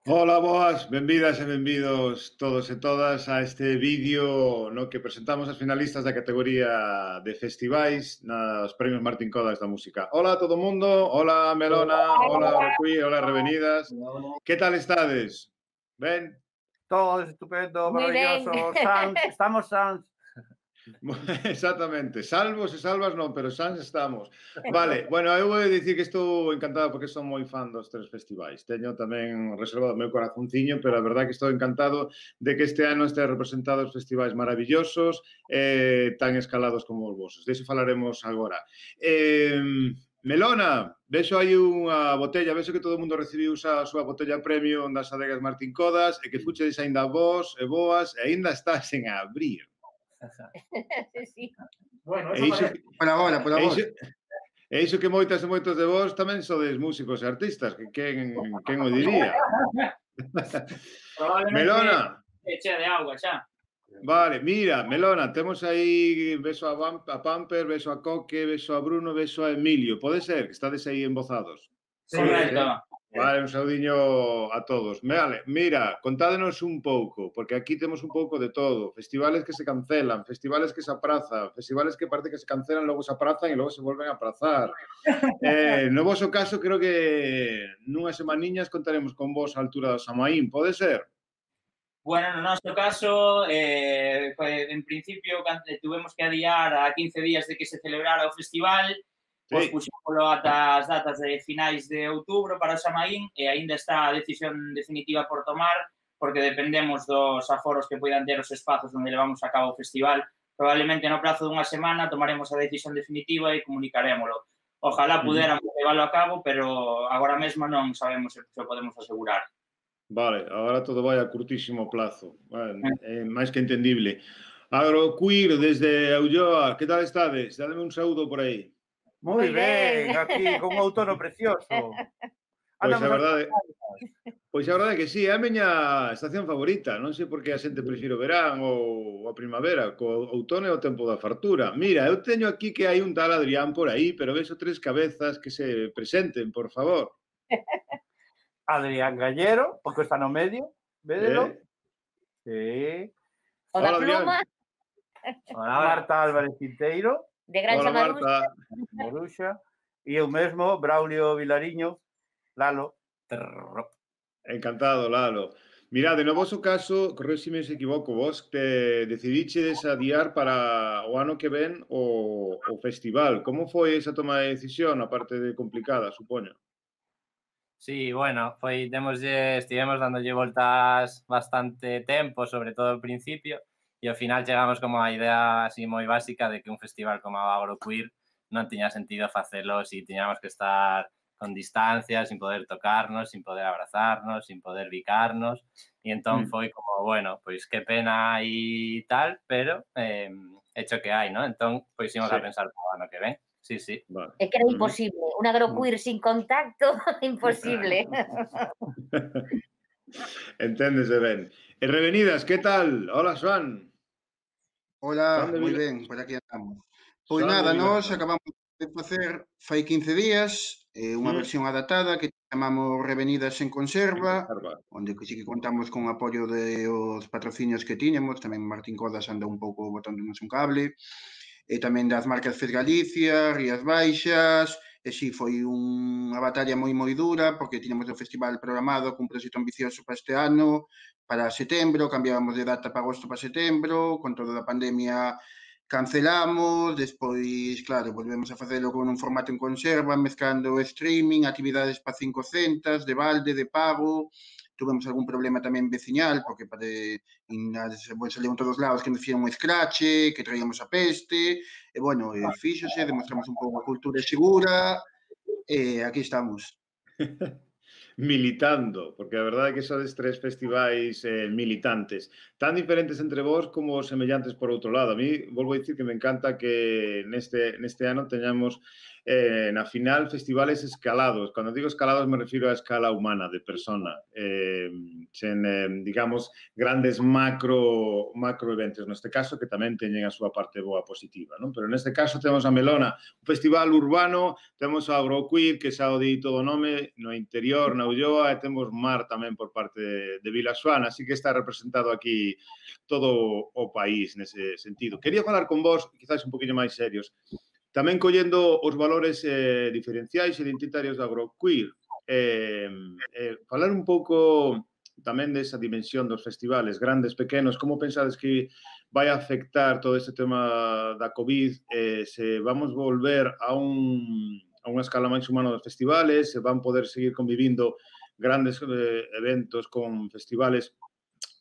Ola, boas, benvidas e benvidos todos e todas a este vídeo no que presentamos as finalistas da categoría de festivais nos premios Martín Codas da música. Ola a todo mundo, ola Melona, ola Rocuí, ola Revenidas. Que tal estades? Ben? Todo estupendo, Muy ben. maravilloso, sans, estamos sans. Exactamente, salvos e salvas non, pero sans estamos. Vale, bueno, eu vou dicir que estou encantado porque son moi fan dos tres festivais. Teño tamén reservado o meu corazonciño, pero a verdade que estou encantado de que este ano este representado os festivais maravillosos, tan escalados como os vosos. Dexo falaremos agora. Melona, vexo aí unha botella, vexo que todo o mundo recibiu a súa botella premium das adegas Martín Codas e que fuchedes aínda vos e boas e aínda estás en abrir. Sí. Bueno, E iso, por agora, por agora. E iso que moitas e moitos de vos tamén sodes músicos e artistas, que quen o diría? Probablemente Melona, chea de agua xa. vale, mira, Melona, temos aí, beso a Pamper, beso a Coque, beso a Bruno, beso a Emilio. Pode ser que estades aí embozados? Correcto. Vale, un saudiño a todos. Vale, mira, contádenos un pouco, porque aquí temos un pouco de todo. Festivales que se cancelan, festivales que se aprazan, festivales que parece que se cancelan, logo se aprazan e logo se volven a aprazar. No voso caso, creo que nunhas semaniñas contaremos con vos a altura do Samaín, pode ser? Bueno, no noso caso, en principio, tuvemos que adiar a 15 días de que se celebrara o festival, pois puxémolo ata as datas de finais de outubro para o Samaín e aínda está a decisión definitiva por tomar, porque dependemos dos aforos que poidan ter os espazos onde levamos a cabo o festival. Probablemente no prazo dunha semana tomaremos a decisión definitiva e comunicarémolo. Ojalá puderamos leválo a cabo, pero agora mesmo non sabemos se o podemos asegurar. Vale, agora todo vai a curtísimo plazo. Vale, máis que entendible. Agroqueer, desde Ulloa, que tal estades? Dádeme un saúdo por aí. Moi Moi ben, ben. aquí con un outono precioso. Pois a verdade, Andamos que sí, é a miña estación favorita. Non sei por que a xente prefire o verán ou a primavera, co outono é o tempo da fartura. Mira, eu teño aquí que hai un tal Adrián por aí, pero vexo tres cabezas que se presenten, por favor. Adrián Gallero, porque está no medio, védelo. Sí. O da Hola, Adrián. pluma, Hola, Marta Álvarez Quinteiro, de Granxa Hola, Maruxa. Marta. Moruxa, e eu mesmo, Braulio Vilariño, Lalo. Trrr. Encantado, Lalo. Mirade, no voso caso, corrésime se equivoco, vos te decidichedes adiar para o ano que ven o festival. Como foi esa toma de decisión, aparte de complicada, supoño? Sí, bueno, estivemos dándolle voltas bastante tempo, sobre todo ao principio, e ao final chegamos como a idea así moi básica de que un festival como a Agroqueer non tiña sentido facelo si tiñamos que estar con distancia, sin poder tocarnos, sin poder abrazarnos, sin poder bicarnos, e entón foi como, bueno, pois que pena e tal, pero hecho que hai, ¿no? Entón, pois imos a pensar para o ano que ven. Sí, sí. Vale. É que era imposible. Un agroqueer sin contacto, imposible. Enténdese ben. E Revenidas, que tal? Hola, Xoan. Hola, Son de moi Vila- ben, por aquí andamos. Pois Son de nada, nós Vilanova. acabamos de facer fai 15 días unha versión adaptada que chamamos Revenidas en Conserva, onde que sí que contamos con apoio de os patrocinios que tiñamos, tamén Martín Codas anda un pouco botándonos un cable, e tamén das marcas Fes Galicia, Rías Baixas, e si foi unha batalla moi dura, porque tiñamos o festival programado cun proxecto ambicioso para este ano, para setembro, cambiábamos de data para agosto para setembro, con toda a pandemia cancelamos, despois, claro, volvemos a facelo con un formato en conserva, mezclando streaming, actividades para 500, de balde, de pago, tuvemos algún problema tamén veciñal, porque salió en todos lados que nos fixeron un escrache, que traíamos a peste, e bueno, fíxose, demostramos un pouco a cultura segura, e aquí estamos. Militando, porque a verdade é que sodes tres festivais militantes, tan diferentes entre vós como semellantes por outro lado. A mí, volvo a dicir que me encanta que neste ano teñamos na final festivales escalados. Cando digo escalados me refiro a escala humana, de persona, sen, digamos, grandes macro eventos, neste caso, que tamén teñen a súa parte boa positiva, non? Pero neste caso temos a Melona, un festival urbano, temos a Agroqueer, que xa o di todo o nome, no interior, na na Ulloa e temos mar tamén por parte de Vilaxoana, así que está representado aquí todo o país nese sentido. Quería falar con vos, quizás un poquinho máis serios, tamén collendo os valores diferenciais e identitarios da agroqueer, falar un pouco tamén desa dimensión dos festivales, grandes, pequenos, como pensades que vai afectar todo este tema da COVID, se vamos volver a unha escala máis humana dos festivales, se van poder seguir convivindo grandes eventos con festivales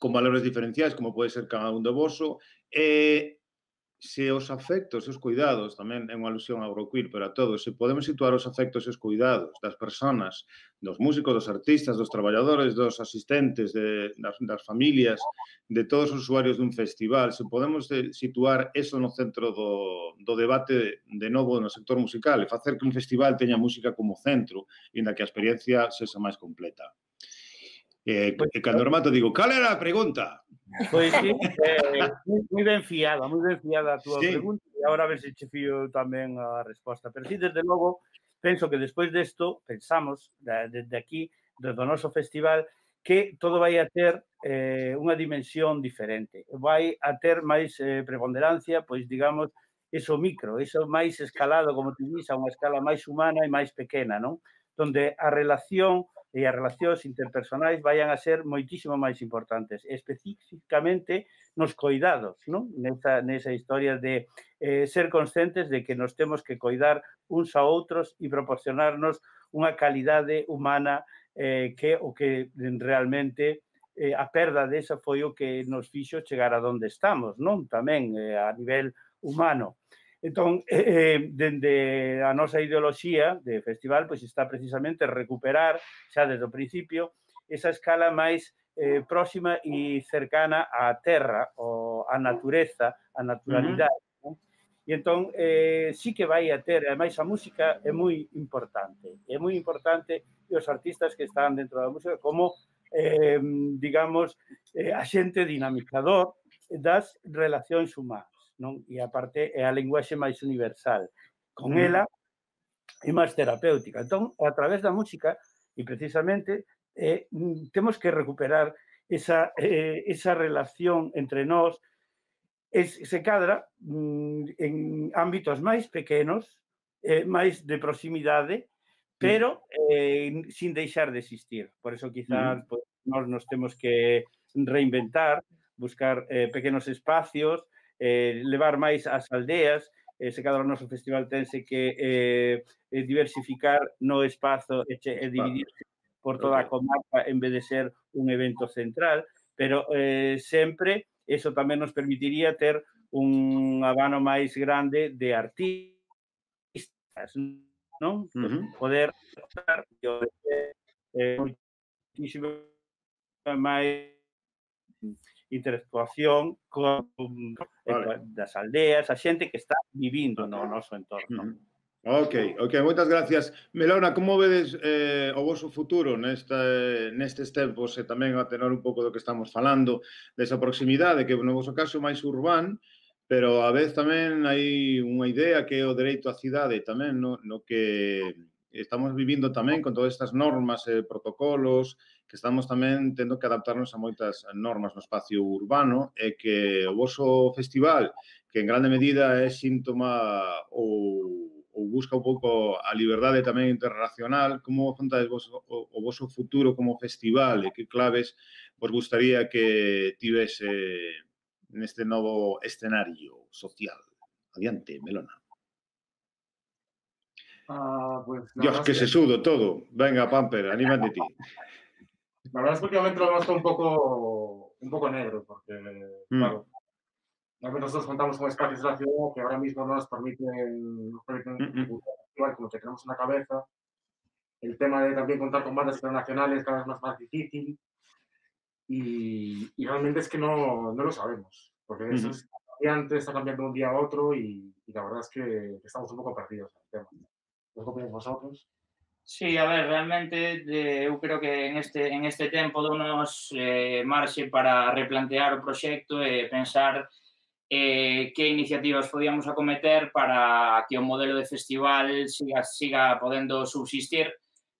con valores diferenciais, como pode ser cada un de voso, se os afectos e os cuidados, tamén é unha alusión ao agroqueer, pero a todos, se podemos situar os afectos e os cuidados das persoas, dos músicos, dos artistas, dos traballadores, dos asistentes, das familias, de todos os usuarios dun festival, se podemos situar eso no centro do debate de novo no sector musical e facer que un festival teña música como centro, inda que a experiencia sexa máis completa. E cando remato digo, cal era a pregunta? Pois sí, moi ben fiada a túa pregunta, e agora a ver se che fío tamén a resposta. Pero sí, desde logo, penso que despois desto, pensamos, desde aquí, desde o noso festival, que todo vai a ter unha dimensión diferente. Vai a ter máis preponderancia, pois, digamos, eso micro, eso máis escalado, como te dís, a unha escala máis humana e máis pequena, non? Donde a relación e as relacións interpersonais vayan a ser moitísimo máis importantes, especificamente nos coidados, non? Nesa historia de ser conscientes de que nos temos que coidar uns a outros e proporcionarnos unha calidade humana que o que realmente a perda desa foi o que nos fixo chegar a donde estamos, non? Tamén a nivel humano. Entón, dende a nosa ideoloxía de festival, pois está precisamente recuperar, xa desde o principio, esa escala máis próxima e cercana á terra, á natureza, á naturalidade. E entón, sí que vai a ter, ademais a música é moi importante. É moi importante e os artistas que están dentro da música como, digamos, axente dinamizador das relacións humanas. Non? E aparte é a linguaxe máis universal. Con ela é máis terapéutica. Entón, a través da música, e precisamente, temos que recuperar esa relación entre nós, se cadra en ámbitos máis pequenos, máis de proximidade, pero sin deixar de existir. Por eso, quizás, nós nos temos que reinventar, buscar pequenos espacios, levar máis ás aldeas, se cada o noso festival tense que diversificar no espazo e dividirse por toda a comarca en vez de ser un evento central, pero sempre eso tamén nos permitiría ter un abano máis grande de artistas, non? Poder moitísimo máis interactuación das aldeas, a xente que está vivindo no noso entorno. Ok, moitas gracias. Melona, como vedes o voso futuro nestes tempos e tamén a tenor un pouco do que estamos falando, desa proximidade, que no voso caso é máis urbán, pero a vez tamén hai unha idea que é o dereito á cidade tamén, no que estamos vivindo tamén con todas estas normas e protocolos, que estamos tamén tendo que adaptarnos a moitas normas no espacio urbano e que o voso festival, que en grande medida é síntoma ou busca un pouco a liberdade tamén internacional, como afrontades o voso futuro como festival e que claves vos gustaría que tivese neste novo escenario social? Adiante, Melona. Pues, Dios, que se sudo todo. Venga, Pamper, anímate ti. La verdad es que últimamente lo vemos todo un poco negro, porque, claro, nosotros contamos con espacios de la ciudad que ahora mismo no nos permiten igual con lo que tenemos en la cabeza. El tema de también contar con bandas internacionales cada vez más difícil. Y realmente es que no lo sabemos, porque eso es cambiante, está cambiando de un día a otro y la verdad es que estamos un pouco perdidos en el tema. ¿Qué opináis vosotros? Sí, a ver, realmente eu creo que en este tempo dounos marxe para replantear o proxecto e pensar que iniciativas podíamos acometer para que o modelo de festival siga podendo subsistir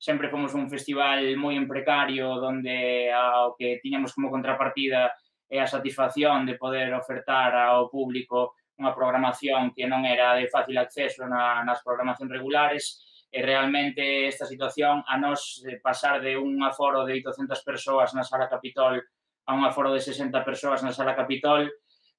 sempre fomos un festival moi en precario, onde o que tiñamos como contrapartida é a satisfacción de poder ofertar ao público unha programación que non era de fácil acceso nas programacións regulares, e realmente esta situación a nos pasar de un aforo de 800 persoas na Sala Capitol a un aforo de 60 persoas na Sala Capitol,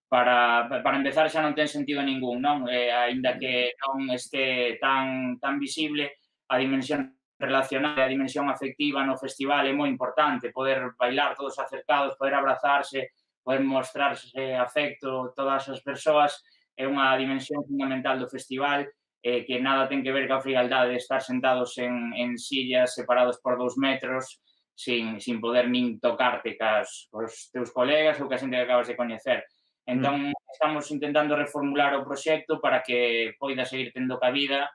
para empezar xa non ten sentido ningún, non? Aínda que non este tan visible, a dimensión relacional, a dimensión afectiva no festival é moi importante, poder bailar todos acercados, poder abrazarse, poder mostrarse afecto todas as persoas, é unha dimensión fundamental do festival, que nada ten que ver coa frialdade de estar sentados en sillas separados por 2 metros sin poder nin tocarte cos teus colegas ou ca xente que acabas de coñecer. Entón, estamos intentando reformular o proxecto para que poida seguir tendo cabida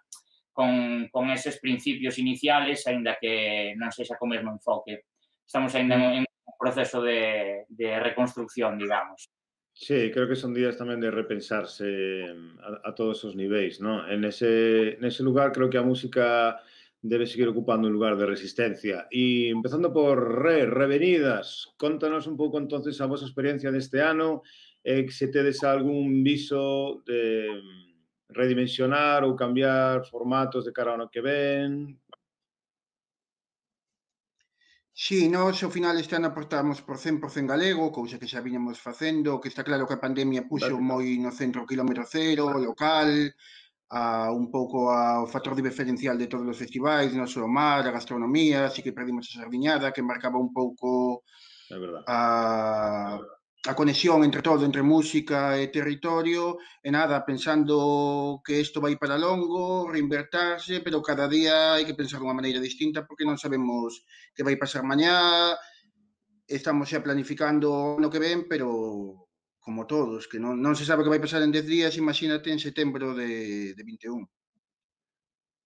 con eses principios iniciales, aínda que non sexa co mesmo enfoque. Estamos ainda en un proceso de reconstrucción, digamos. Sí, creo que son días tamén de repensarse a todos os niveis, ¿no? En ese lugar creo que a música debe seguir ocupando un lugar de resistencia. E empezando por Revenidas, contanos un pouco entonces a vosa experiencia deste ano, se tedes algún viso de redimensionar ou cambiar formatos de cara ao ano que ven. Sí, nós ao final este ano aportamos por 100% galego, cousa que xa viñamos facendo, que está claro que a pandemia puxo moi no centro quilómetro cero, local, un pouco ao factor diferencial de todos os festivais, non só o mar, a gastronomía, así que perdimos a sardiñada, que marcaba un pouco a conexión entre todo, entre música e territorio, e nada, pensando que isto vai para longo, reinvertirse, pero cada día hai que pensar dunha maneira distinta porque non sabemos que vai pasar mañá, estamos xa planificando no que ven, pero como todos, que non se sabe que vai pasar en 10 días, imagínate en setembro de 21.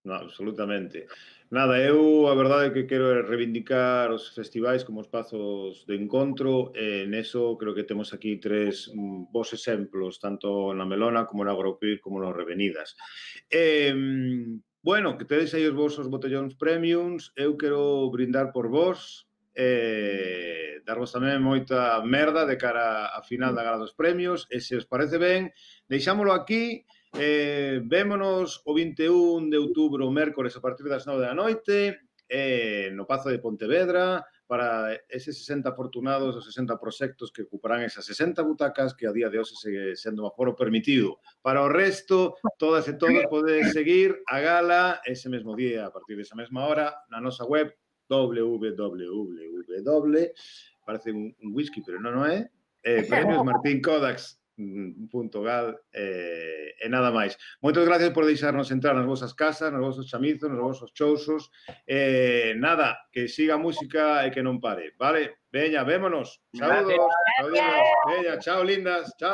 No, absolutamente. Nada, eu a verdade é que quero reivindicar os festivais como espazos de encontro, e neso creo que temos aquí 3 bons exemplos, tanto na Melona como na Agroqueer como nas Revenidas. Bueno, que tedes aí os vosos botellóns premiums, eu quero brindar por vos, darvos tamén moita merda de cara a final da gala dos premios, e se os parece ben, deixámolo aquí. Vémonos o 21 de outubro, mércores, a partir das 9 da noite, no Pazo de Pontevedra, para eses 60 afortunados, os 60 proxectos que ocuparán esas 60 butacas que a día de hoxe segue sendo un aforo permitido. Para o resto, todas e todos podedes seguir a gala ese mesmo día, a partir desa mesma hora, na nosa web parece un whisky, pero non é, Premios Martín Kodaks .gal e nada máis. Moitas gracias por deixarnos entrar nas vosas casas, nos vosos chamizos, nos vosos chousos. Nada, que siga a música e que non pare, vale? Veña, vémonos. Saúdos. Veña, chao, lindas. Chao.